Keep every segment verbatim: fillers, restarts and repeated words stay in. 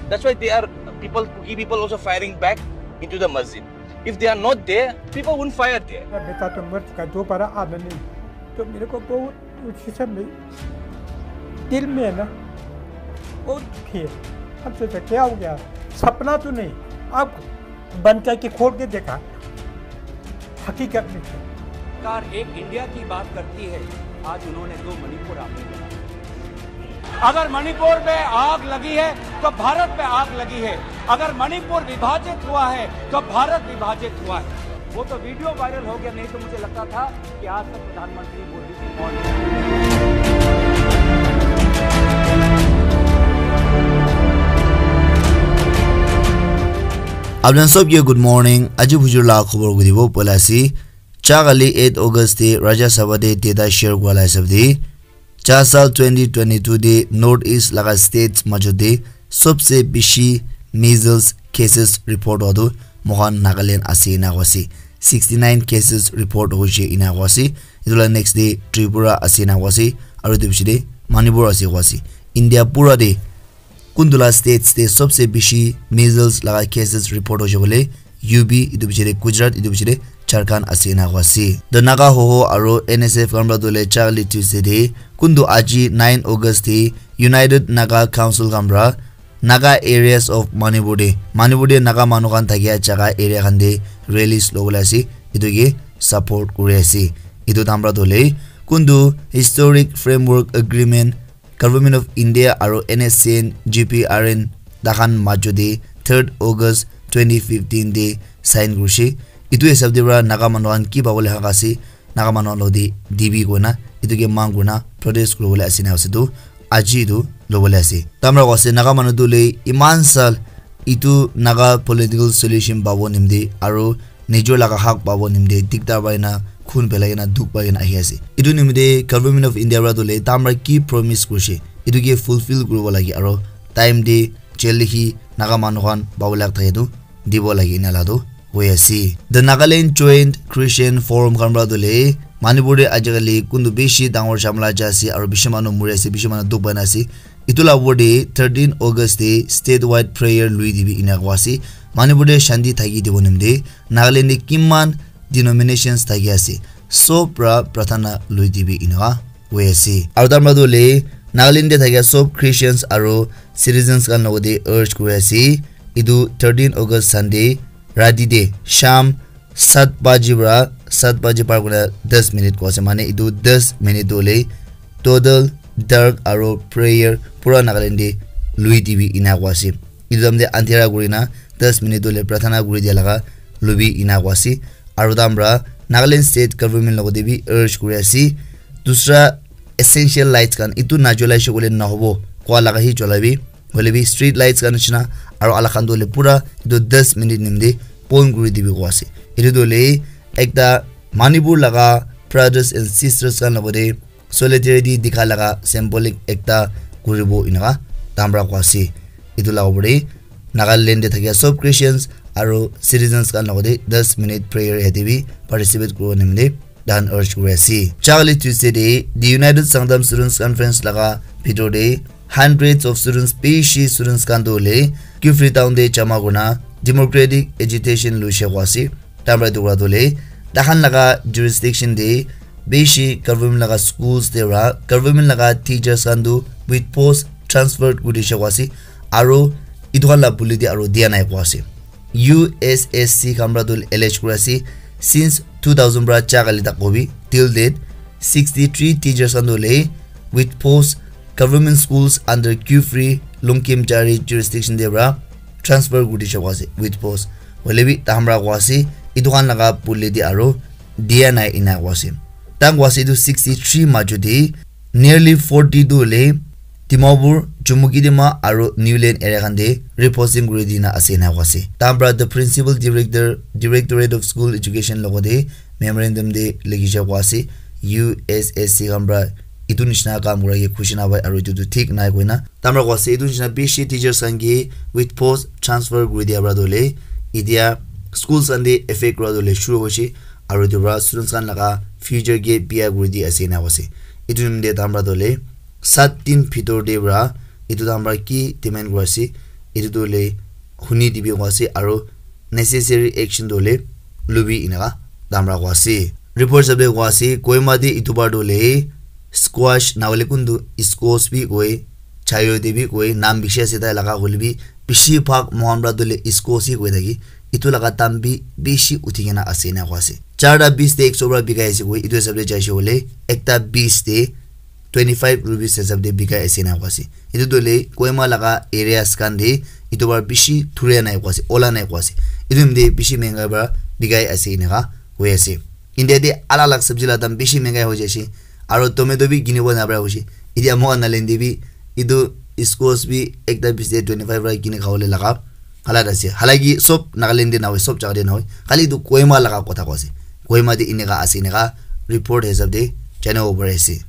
That's why they are people, Kuki people also firing back into the masjid. If they are not there, people won't fire there. बेटा तो मर चुका, दोबारा आना नहीं। तो मेरे को बहुत उसी से दिल में है ना, बहुत दुखी है। हम सोचा क्या हो गया, सपना तो नहीं, अब बंद करके खोल के देखा, हकीकत में। सरकार एक इंडिया की बात करती है, आज उन्होंने दो मणिपुर आपने बना दिया। अगर मणिपुर में आग लगी है तो भारत में आग लगी है, अगर मणिपुर विभाजित हुआ है तो भारत विभाजित हुआ है। वो तो वीडियो वायरल हो गया, नहीं तो मुझे लगता था कि आज तक प्रधानमंत्री मोदी जी मौन है। Apni khan sob ke good morning. Aji bujur la khobor guribo poila ase. Cha kali eight August te Rajya Sabha te data share kura la hisab te, cha sal twenty twenty-two te North East laga states majot te sobse bishi measles cases report hua tu moikhan Nagaland ase ena koi ase. Sixty nine cases report hoise ena koi ase. Etu la next te Tripura ase ena koi ase. Aru etu piche te Manipur ase koi ase. India pura te kuntu la states te sobse bishi measles laga cases report hoise koile U P, etu piche te Gujarat, etu piche te Jharkhand ase ena koi ase. The Naga Hoho aru N S F khan para tu hoile cha kali Tuesday te kuntu aji nine August te United Naga Council khan para Naga areas of Manipur te, Manipur te Naga manu khan thakia jaga area khan te rallies lobole ase, etu ke support kuri ase. Etu time para tu hoile kuntu historic framework agreement Government of India aru N S C N G P R N takhan majot te third August twenty fifteen te sign kurise. Etu hisab te para Naga manu khan ki pabole hak ase, Naga manu khan lode dibi koina, etu ke mang koina protest kuribole ase na ase tu, aji etu lobole ase. Tamra koi ase, Naga manu tu le iman sal etu Naga political solution pabo nimte aru nijor laga hak pabo nimte diktar pai na, khun pelai na, dukh pai na ahi ase. Etu nimte Government of India para tu le tamra ki promise kurise, etu ke fulfill kuribo lage aru time te jaldi hi Naga manu khan pabo lage thake tu dibo lage ena la tu hoi ase. The Nagaland Joint Christian Forum khan para tu le Manipur te ajikali kuntu bishi dangor jhamla jai ase aru bishi manu muri ase, bishi manu dukh pai na ase. Etu la opor te thirteen August te statewide prayer lui dibi ena koi ase. Manipur te shanti thaki dibo nimte Nagaland te kiman denominations thaki ase, sob para prarthana lui dibi ena koi ase. Aru tamra tu le Nagaland te thakia sob Christians aru citizens khan logote urge kuri ase, etu thirteen August Sunday rati te sham sat baji para, sat baji par kurina das minute koi ase, mane etu das minute tu hoile total dark aru prayer pura Nagaland te lui dibi ena koi ase. Etu time te andhera kurina das minute tu hoile prarthana kuri dia laga lui bi ena koi ase. Aru tamra Nagaland State Government logote bi urge kuri ase, dusra essential lights khan etu na jolai se koile na hobo, kua laga hi jolai bi, hoile bi street lights khan nishina, aru alak khan tu hoile pura etu das minute nimte bon kuri dibi koi ase. Etu tu hoile ekta Manipur laga brothers and sisters khan logote solidarity dikha laga symbolic ekta kuribo ena tamra koi ase. Etu la opor te Nagaland te thakia sob Christians aru citizens khan logote das minute prayer yate bi participate kuribo nimte dan urge kuri ase. Cha kali Tuesday te the United Sangtam Students Conference laga bhitor te hundreds of students, bishi students khan tu hoile Kiphire town te jama kurina democratic agitation lui se koi ase. Tamra etu kura tu hoile takhan laga jurisdiction te bishi government laga schools te para government laga teachers khan tu with post transfer kuri se koi ase. Aru etu khan la buli te aru dia nai koi ase. U S S C khan para tu allege kuri ase, since two thousand para cha kali tak hobi till date sixty three teachers khan tu hoile with post government schools under Kiphire Longkhimjari jurisdiction te para transfer kuri dise koi ase with post. Hoile bi takhan para koi ase etu khan laga buli te aru dia nai ena koi ase. Takhan koi ase etu sixty three majot te nearly forty tu hoile Dimapur, Chumoukedima aru Niuland area khan te reposting kuri dina ase ena koi ase. Takhan para the Principal Director, Directorate of School Education logote memorandum te likhi se koi ase, U S S C khan para etu nishina kam kura ke khushi na pai aru etu tu thik nai koina. Tamra koi ase etu nishina bishi teachers khan ke with post transfer kuri dia para tu hoile etia schools khan te effect kura tu hoile shuru hoise aru etu para students khan laga future ke biya kuri di ase ena koi ase. Etu nimite tamra tu hoile sat din bhitor te para etu tamra ki demand kuri ase, etu tu le huni dibi koa ase, aro necessary action tu le lubi eneka tamra koa ase. Report hisab de koa ase, Kohima de etu bar tu le squash na hoile kuntu squash bi koi, chayo de bi koi, nam bishi ase tai laga hoile bi, bishi bhag mohan pra tu le squash hi koi thaki, etu laga dam bi bishi uthi kena ase ena koa ase. Charta bis de ekso pra bikai ase koi, etu hisab de jaise hoile, ekta bis de twenty five rupees hisab de bikai ase ena koa ase. Etu tu le Kohima laga areas khan de etu bar bishi thuria nai koa ase, ola nai koa ase. Etu nimite bishi menga pra bikai ase eneka koi ase. India de alag alag sabji la dam bishi mengai hoi jaise. Aro tomato bi kinibo nabra hoise. Etia mohan Nagaland de bi etu squash bi ekta bis de twenty five pra kini khabole laga halat ase. Halaki sob Nagaland de nahoi, sob jaga de nahoi. Khali etu Kohima laga kotha koa ase. Kohima de eneka ase eneka report hisab de janibo pari ase.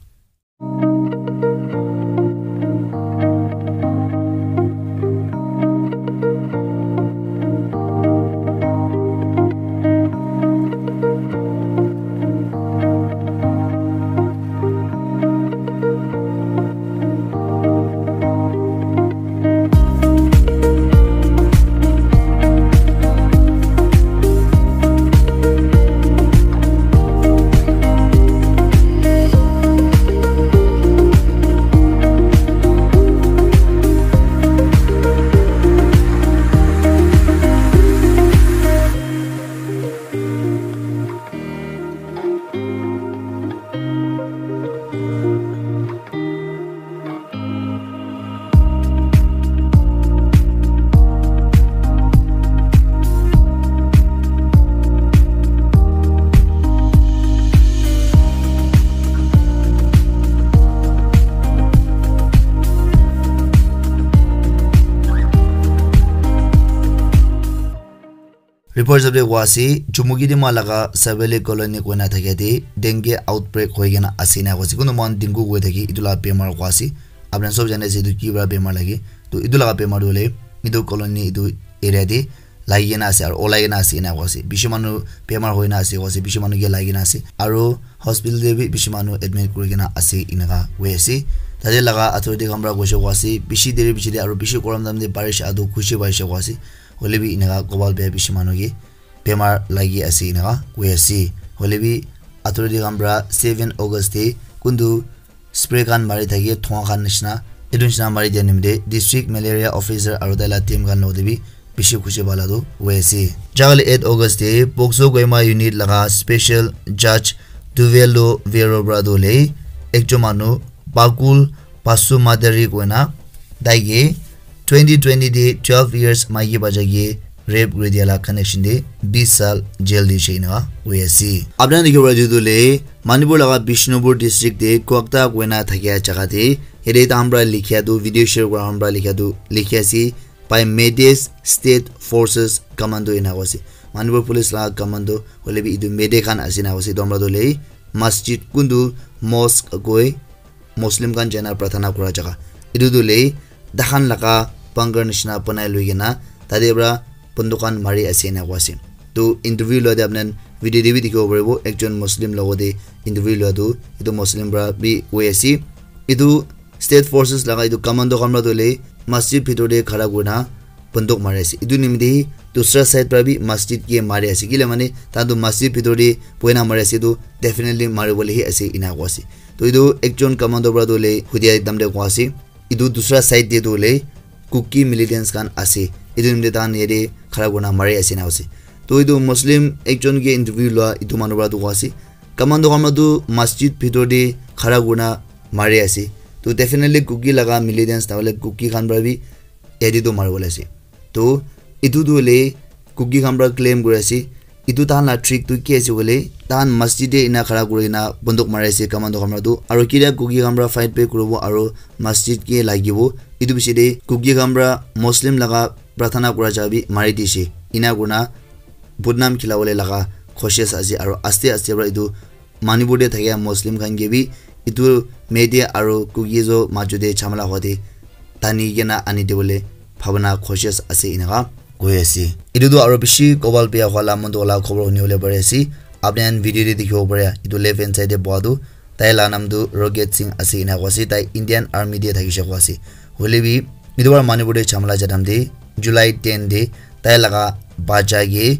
Report hisab de koa ase, Chumukedima laga Savali Colony koina thakia de dengue outbreak hoi kena ase ena koa ase. Kuntu mohan dengue koi thaki, etu la bemar koa ase. Apni khan sob jane ase etu ki para bemar lage. To etu laga bemar tu hoile etu colony, etu area de lagi kena ase aro olai kena ase ena koa ase. Bishi manu bemar hoi kena ase koa ase, bishi manu ke lagi kena ase. Aro hospital de bi bishi manu admit kuri kena ase eneka koi ase. Tate laga authority khan para koise koa ase, bishi deri bishi de aro bishi gorom time de barish atu khushi paise koa ase. Hoile bi eneka kobal bia bishi manu ke bemar lagi ase eneka koi ase. Hoile bi authority khan para seven August de kuntu spray khan mari thaki, dhua khan nishina, etu nishina mari dia nimite district malaria officer aro tai la team khan logote bi bishi khushi pala tu hoi ase. Jagale eight August de Pokso Kohima unit laga special judge Duvelo Vero para tu le ekjon manu Bakul Pasu Madari koina tai ke twenty twenty de twelve years maiki bacha ke rape kuri dia la connection de bis sal jail de shei na hoi ase. Apna dikhi para etu tu le Manipur laga Bishnupur district de Kwakta koina thakia jaga de yate tahan para likhia tu, video share kura khan para likhia tu likhi ase by Meiteis State Forces Commando ena koi ase. Manipur Police laga commando hoile bi etu Meitei khan ase na koi ase. Etu para tu le masjid kuntu mosque koi Muslim khan jaina pratana kura jaga. Etu tu le tahan laga bunker nishina banai lui kena tate para banduk khan mari ase ena koi ase. Tu interview lua te apni khan video te bi dikhibo paribo, ekjon Muslim logote interview lua tu etu Muslim para bi koi ase. Etu state forces laga etu commando khan para tu le masjid bhitor te khara kurina banduk mari ase. Etu nimite dusra side para bi masjid ke mari ase. Kile mane tahan tu masjid bhitor te bohi na mari ase, tu definitely mari bole hi ase ena koi ase. To etu ekjon commando para tu le hudia ekdam de koi ase. Etu dusra side de tu le Kuki militants khan ase. Etu nimite tahan yate khara kurina mari ase na ase. To etu Muslim ekjon ke interview lua etu manu para tu koi ase. Commando khan para tu masjid bhitor de khara kurina mari ase. To definitely Kuki laga militants na hoile Kuki khan para bi yate tu mari bole ase. To etu tu hoile Kuki khan para claim kuri ase. Etu tahan la trick tu ki ase koile, tahan masjid te ena khara kuri kena banduk mari ase commando khan para tu. Aro kitia Kuki khan para fight back kuribo aro masjid ke lagibo. Etu piche te Kuki khan para Muslim laga pratana kura jaga bi mari dise. Ena kurina badnam khilabole laga koshish ase aro aste aste para etu Manipur te thakia Muslim khan ke bi etu Meitei aro Kuki zo majo te jhamala hua te tani kena ani dibole bhabana koshish ase eneka koi ase. Etu tu aro bishi kobal bia hua la mon tu wala khobor huni bole pari ase. Apni khan video te dikhibo pare, etu left hand side te boha tu tai la naam tu Rocket Singh ase ena koi ase. Tai Indian Army te thakishe koi ase. Hoile bi Etu para Manipur te jhamala jadam te July ten te tai laga bacha ke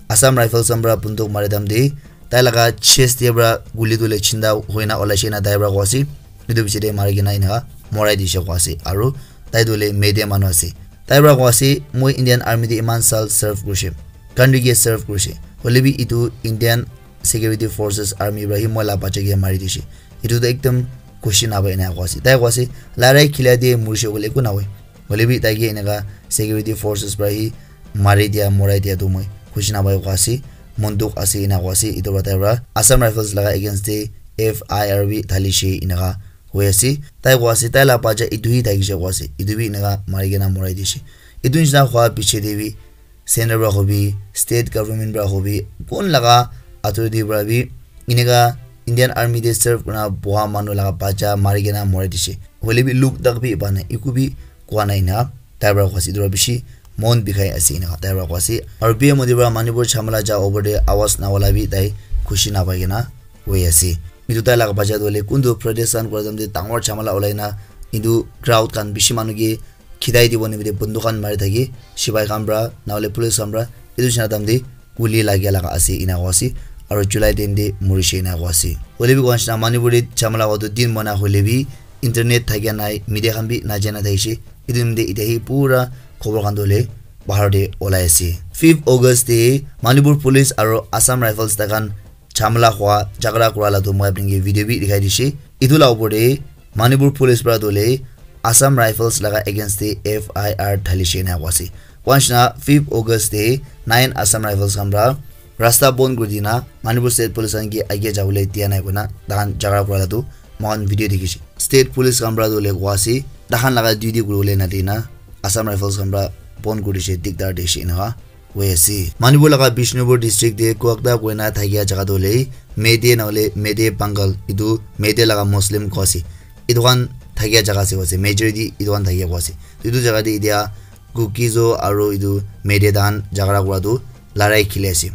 Assam Rifles khan para bunduk mari dam te tai laga chest te para guli tu le chinda hoina olaishe na tai para koise. Etu piche te mari kena eneka morai dishe koise. Aru tai tu le Meitei manu ase. Tai para koise, "Moi Indian Army te iman sal serve kurishe, country ke serve kurishe. Hoile bi etu Indian Security Forces Army para hi moi la bacha ke mari dishe. Etu tu ekdam khushi napai," eneka koise. Tai koise, "Larai khila te murishe koile eku nahoi. Hoile bi tai ke eneka Security Forces para hi mari dia, morai dia tu moi khushi napai," koise. "Mon dukh ase," eneka koise. Etu para tai para Assam Rifles laga against te F I R bi dhalishe eneka hoi ase. Tai koise, tai la bacha etu hi thakishe koise. Etu bi eneka mari kena morai dishe. Etu nishina hua piche te bi center para hobi, state government para hobi, kun laga authority para bi eneka Indian Army te serve kurina boha manu laga bacha mari kena morai dishe. Hoile bi look tak bi pa nai, eku bi koa nai na tai para koise. Etu para bishi mon bikhai ase eneka tai para koise. Aru P M Modi para Manipur jhamala ja over te awaz na ola bi tai khushi napai kena hoi ase. Etu tai laga bacha tu hoile kuntu protest khan kura time te dangor jhamala olai na etu crowd khan bishi manu ke khidai dibo nimite bunduk khan mari thaki sipai khan para nahole police khan para etu nishina time te guli lagia laga ase eneka koise. Aru July ten te murishe eneka koise. Hoile bi koa nishina Manipur te jhamala hua tu din mana hoile bi internet thakia nai, media khan bi najana thaishe. Etu nimite etia hi pura khobor khan tu hoile bahar te olai ase. Fifth August te Manipur police aru Assam Rifles tai khan jhamala hua jhagara kura la tu moi apni ke video bi dikhai dishe. Etu la upor te Manipur police para tu hoile Assam Rifles laga against te F I R dhalishe eneka koise. Koa nishina fifth August te nine Assam Rifles khan para rasta bon kuri dina Manipur State Police khan ke age jabole dia nai koina tai khan jhagara kura la tu moi khan video dikhishe. State Police khan para tu hoile koa ase tai khan laga duty kuribole nadina Assam Rifles khan para bon kuri dishe, dikdar dishe eneka hoi ase. Manipur laga Bishnupur district te Kwakta koina thakia jaga tu hoile Meitei nahole Meitei Pangal, etu Meitei laga Muslim koa ase. Etu khan thakia jaga ase koa ase, majority etu khan thakia koa ase. Etu jaga te etia Kukizo aru etu Meitei tai khan jhagara kura tu larai khili ase.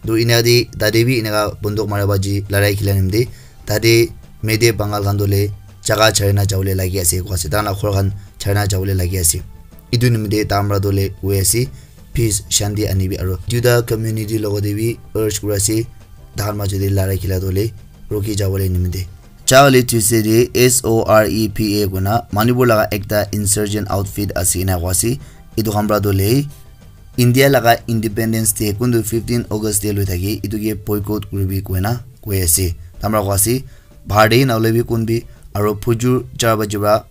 Tu ena te tate bi eneka bunduk mara baji larai khila nimite tate Meitei Pangal khan tu hoile jaga chari na jabole lagi ase koa ase. Tai khan la ghor khan chari na jabole lagi ase. Etu nimite tai khan para tu hoile koi ase, peace, shanti anibi aru duita community logot te bi urge kuri ase, tai khan majo te larai khila tu hoile rukhi jabole nimite. Charlie Tuesday te S O R E P A koina Manipur laga ekta insurgent outfit ase ena koa ase. Etu khan para tu hoile India laga Independence Day kuntu fifteen August te loi thaki etu ke boycott kuribi koina koi ase. Tai khan para koa ase bahar te nahole bi kun bi aru phujur char baji para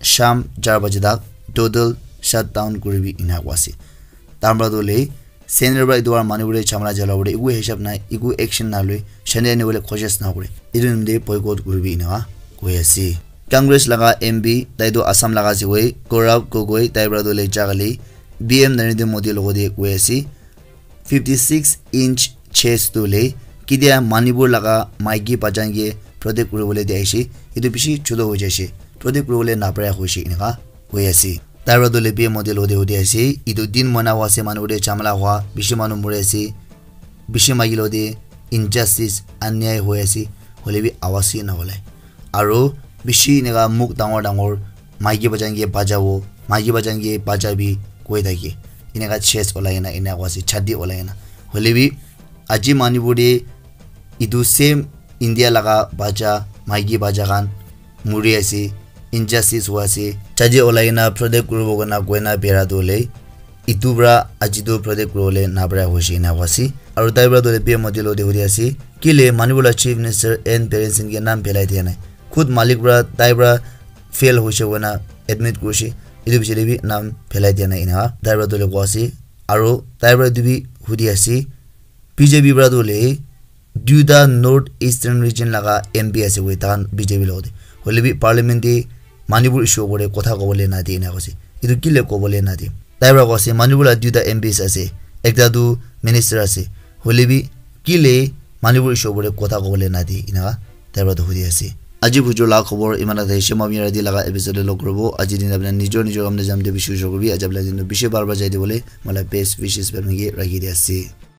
sham char baji tak total shutdown kuribi ena koa ase. Tai khan para tu hoile center para etu para Manipur te jhamala jalabole eku hisab nai, eku action naloi, shanti anibole koshish nakore. Etu nimite boycott kuribi eneka koi ase. Congress laga M P, tai tu Assam laga ase koi, Gaurav Gogoi, tai para tu hoile jagale P M Narendra Modi logot te koi ase, fifty six inch chest tu hoile ketia Manipur laga maiki bachan ke protect kuribole dia ase, etu bishi chutu hoi jaise, protect kuribole napara hoise eneka hoi ase. Tai para tu hoile P M Modi logot te hudi ase, etu din mana hua ase, manu te jhamala hua, bishi manu mori ase, bishi maiki logot te injustice, anyai hoi ase, hoile bi awaz hi na ulai. Aru bishi eneka muk dangor dangor, "Maiki bachan ke bachabo, maiki bachan ke bachabi," koi thake. Eneka chest olai kena eneka koi ase, chati olai kena. Hoile bi aji Manipur te etu same India laga bacha, maiki bacha khan muri ase, injustice hoi ase. Chati olai kena protect kuribo koina koina bera tu hoile etu para aji tu protect kuribole napara hoise ena koi ase. Aru tai para tu hoile P M Modi logot te hudi ase, kile Manipur la Chief Minister N Biren Singh ke naam phelai dia nai. Khud malik para tai para fail hoise koina admit kurise. Etu piche te bi naam phelai dia nai ena tai para tu hoile koi ase. Aru tai para etu bi hudi ase, B J P para tu hoile duita North Eastern Region laga M P ase koi tai khan B J P logot te. Hoile bi parliament te Manipur issue opor te kotha kobole nadi ena koise. Etu kile kobole nadi? Tai para koise Manipur la duita M Ps ase, ekta tu minister ase. Hoile bi kile Manipur issue opor te kotha kobole nadi ena tai para tu hudi ase. Aji bujur la khobor iman ase, Shema Miradi laga episode te log kuribo. Aji din apni nijor nijor kam te jam te bishi ujor kuribi. Aji apni din bishi bhal para jai dibole mola best wishes para rakhi di ase.